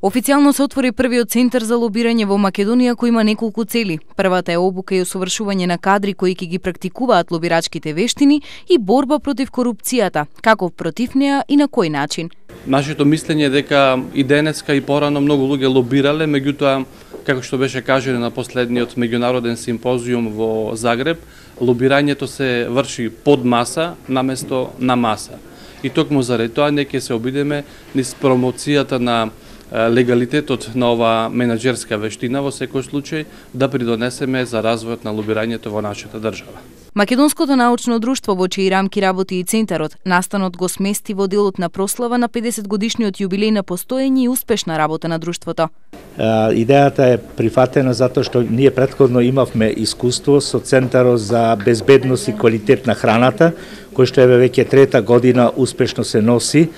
Официјално се отвори првиот центар за лобирање во Македонија кој има неколку цели. Првата е обука и усовршување на кадри кои ќе ги практикуваат лобирачките вештини и борба против корупцијата, како против неа и на кој начин. Нашето мислење е дека и денеска и порано многу луѓе лобирале, меѓутоа, како што беше кажено на последниот меѓународен симпозиум во Загреб, лобирањето се врши под маса наместо на маса. И токму заради тоа ќе се обидеме низ промоцијата на легалитетот на ова менаџерска вештина во секој случај да придонесеме за развојот на лобирањето во нашата држава. Македонското научно друштво во чии рамки работи и центарот, настанот го смести во делот на прослава на 50 годишниот јубилеј на постоење и успешна работа на друштвото. Идејата е прифатена затоа што ние претходно имавме искуство со Центарот за безбедност и квалитет на храната, кој што е веќе трета година успешно се носи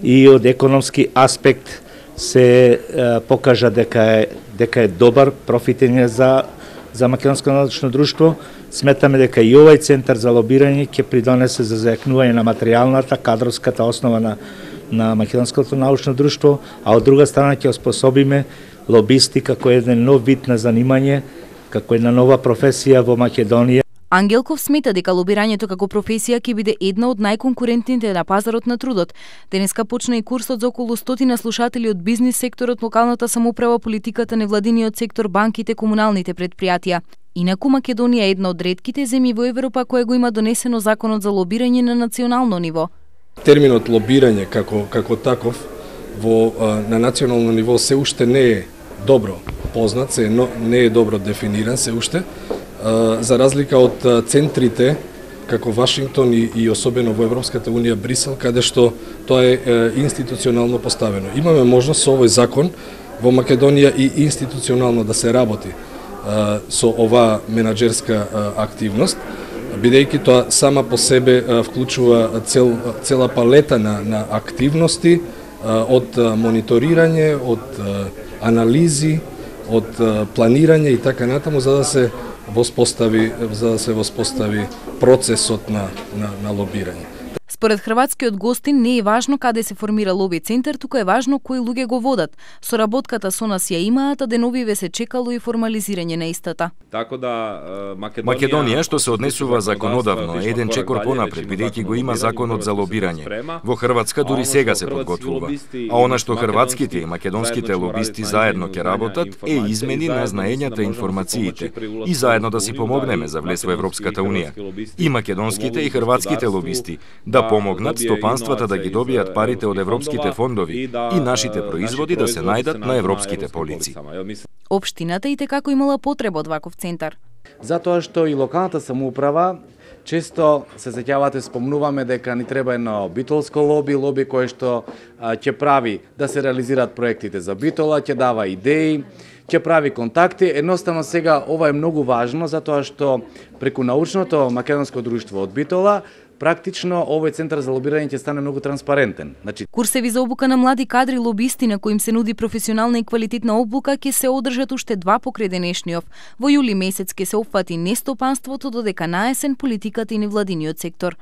и од економски аспект се покажа дека е добар, профитен за Македонско научно друштво. Сметаме дека и овој центар за лобирање ќе придонесе за зајакнување на материјалната, кадровската основа на Македонското научно друштво, а од друга страна ќе оспособиме лобисти како еден нов вид на занимање, како една нова професија во Македонија. Ангелков смета дека лобирањето како професија ќе биде една од најконкурентните на пазарот на трудот. Денеска почна и курсот за околу 100 слушатели од бизнис секторот, локалната самоуправа, политиката, невладиниот сектор, банките, комуналните предпријатија. Инаку Македонија е една од ретките земји во Европа која го има донесено законот за лобирање на национално ниво. Терминот лобирање како таков на национално ниво се уште не е добро познат, не е добро дефиниран се уште. За разлика од центрите како Вашингтон и особено во Европската унија Брисел, каде што тоа е институционално поставено. Имаме можност со овој закон во Македонија и институционално да се работи со оваа менаџерска активност, бидејќи тоа сама по себе вклучува цела палета на активности, од мониторирање, од анализи, од планирање и така натаму, за да се воспостави процесот на лобирање. Според хрватскиот гостин не е важно каде се формира лоби центар, туку е важно кои луѓе го водат. Соработката со нас ја имаат, а деновиве се чекало и формализирање на истата. Така да Македонија, што се однесува законодавно, е еден чекор понапред, бидејќи го има законот за лобирање. Во Хрватска дури сега се подготвува. А она што хрватските и македонските лобисти заедно ќе работат е измени на знаењата и информациите и заедно да си помогнеме за влез во Европската унија. И македонските и хрватските лобисти да помогнат стопанствата да ги добијат парите од европските фондови и нашите производи да се најдат на европските полици. Општината и како имала потреба од ваков центар. Затоа што и локалната самоуправа често се сеќавате, спомнуваме дека ни треба едно битолско лоби кое што ќе прави да се реализираат проектите за Битола, ќе дава идеи, ќе прави контакти. Едноставно сега ова е многу важно затоа што преку научното македонско друштво од Битола практично овој центар за лобирање ќе стане многу транспарентен. Курсеви за обука на млади кадри лобисти на кои им се нуди професионална и квалитетна обука ќе се одржат уште 2 покрај денешниот. Во јули месец ќе се опфати не стопанството, додека на есен политиката и невладиниот сектор.